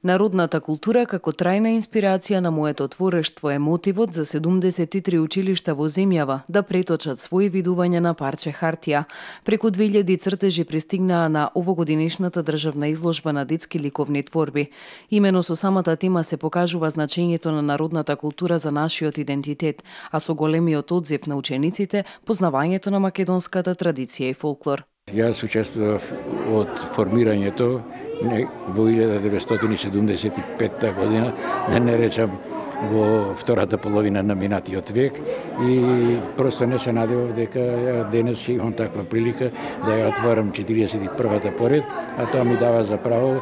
Народната култура како трајна инспирација на моето творештво е мотивот за 73 училишта во земјава да преточат своји видувања на парче хартија. Преку 2000 цртежи пристигнаа на овогодинешната државна изложба на детски ликовни творби. Имено со самата тема се покажува значењето на народната култура за нашиот идентитет, а со големиот одзив на учениците, познавањето на македонската традиција и фолклор. Јас учествував од формирањето во 1975 година, да не речам во втората половина на минатиот век, и просто не се надевав дека денес имам таква прилика да ја отворам 41-та поред, а тоа ми дава за право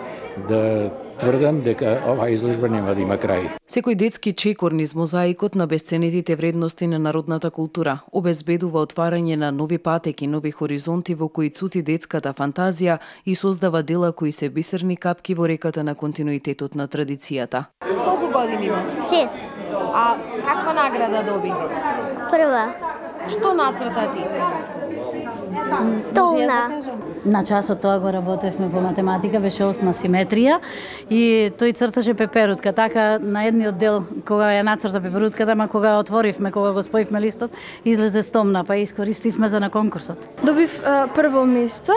да тврдам дека оваа изложба нема да има крај. Секој детски чекор низ мозаикот на бесценетите вредности на народната култура обезбедува отварање на нови патеки, нови хоризонти во кои цути детската фантазија и создава дела кои се бисерни капки во реката на континуитетот на традицијата. Колку години имаш? 6. А каква награда доби? Прва. Што нацрта ти? Столна. На часот тоа го работевме по математика, беше осна симетрија и тој црташе пеперутка. Така на едниот дел кога ја нацрта пеперутката, ама кога отворивме, кога го споивме листот, излезе стомна, па искористивме за на конкурсот. Добив прво место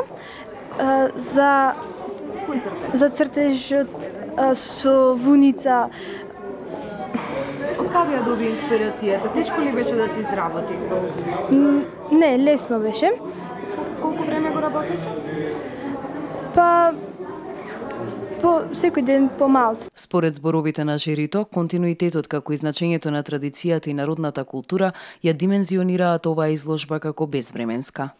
за цртежот со вуница. Од каде ја доби инспирацијата? Тешко ли беше да се изработи? Не, лесно беше. Колку време го работеше? Па по секој ден помалку. Според зборовите на жирито, континуитетот како и значењето на традицијата и народната култура ја димензионираат оваа изложба како безвременска.